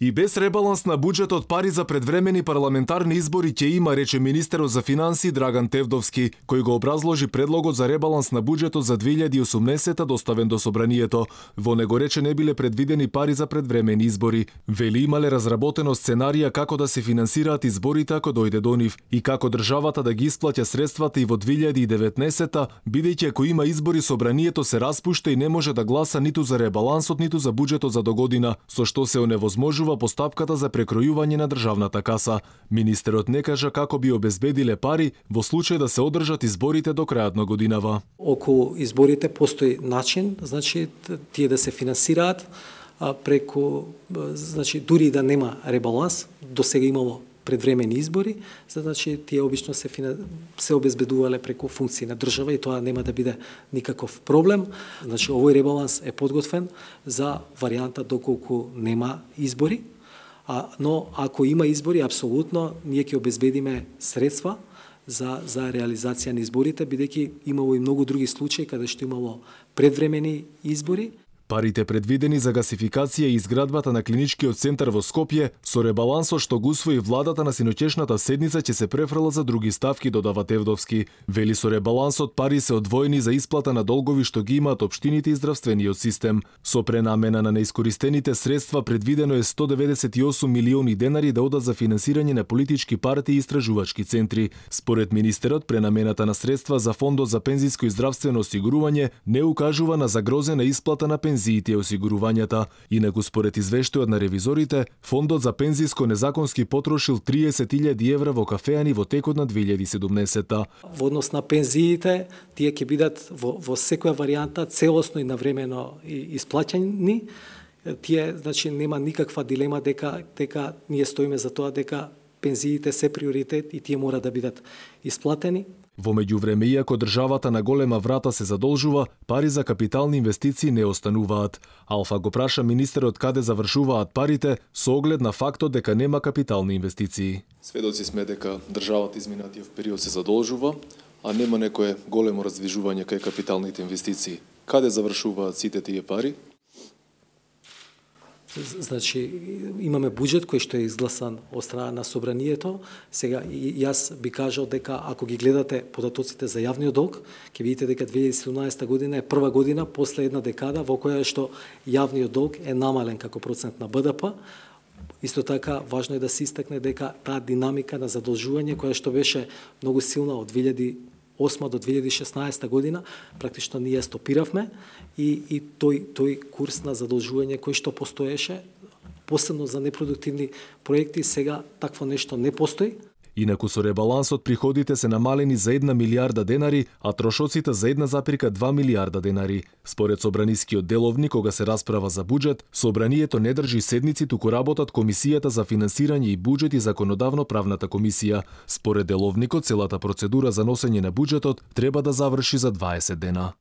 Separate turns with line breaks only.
И без ребаланс на буџетот пари за предвремени парламентарни избори ќе има, рече министерот за финансии Драган Тевдовски, кој го образложи предлогот за ребаланс на буџетот за 2018 доставен до собранието. Во него рече не биле предвидени пари за предвремени избори. Вели имале разработено сценарија како да се финансираат изборите ако дојде до нив и како државата да ги исплаќа средствата и во 2019, бидејќи ако има избори собранието се распушта и не може да гласа ниту за ребалансот, ниту за буџетот за догодина, со што се оневозможува постапката за прекројување на државната каса. Министерот не кажа како би обезбедиле пари во случај да се одржат изборите до крајот на годинава.
Околу изборите постои начин, значи тие да се финансираат преку, значи дури да нема ребаланс, до сега имало предвремени избори, значи тие обично се обезбедувале преку функции на држава и тоа нема да биде никаков проблем. Значи овој ребаланс е подготвен за варијанта доколку нема избори, но ако има избори, апсолутно ние ќе обезбедиме средства за реализација на изборите, бидејќи имало и многу други случаи каде што имало предвремени избори.
Парите предвидени за гасификација и изградбата на клиничкиот центар во Скопје со ребалансот што го усвои владата на синоќешната седница ќе се префрлат за други ставки, додава Тевдовски. Вели со ребалансот пари се одвоени за исплата на долгови што ги имаат општините и здравствениот систем. Со пренамена на неискористените средства предвидено е 198 милиони денари да одат за финансирање на политички партии и истражувачки центри. Според министерот, пренамената на средства за фондот за пензиско и здравствено осигурување не укажува на загрозена исплата на пензиите и осигурувањата. Инаку според извештајот на ревизорите, фондот за пензиско незаконски потрошил 30.000 евра во кафеани во текот на 2017.
Во однос на пензиите, тие ќе бидат во секоја варијанта целосно и навремено исплаќани. Тие, значи, нема никаква дилема дека ние стоиме за тоа дека пензиите се приоритет и тие мора да бидат исплатени.
Во меѓувреме, иако државата на голема врата се задолжува, пари за капитални инвестиции не остануваат. Алфа го праша министерот каде завршуваат парите со оглед на фактот дека нема капитални инвестиции.
Сведоци сме дека државата изминатиот период се задолжува, а нема некое големо раздвижување кај капиталните инвестиции. Каде завршуваат сите тие пари?
Значи, имаме буџет кој што е изгласан од страна на собранието. Сега, јас би кажал дека ако ги гледате податоците за јавниот долг, ќе видите дека 2017 година е прва година после една декада во која што јавниот долг е намален како процент на БДП. Исто така, важно е да се истакне дека таа динамика на задолжување која што беше многу силна од 2008 до 2016 година, практично ние стопиравме и тој курс на задолжување кој што постоеше, посебно за непродуктивни проекти, сега такво нешто не постои.
Инаку со ребалансот приходите се намалени за 1 милијарда денари, а трошоците за 1,2 милијарда денари. Според собранискиот деловник, кога се расправа за буџет, собранието не држи седници, туку работат Комисијата за финансирање и буџет и Законодавно-правната комисија. Според деловникот, целата процедура за носење на буџетот треба да заврши за 20 дена.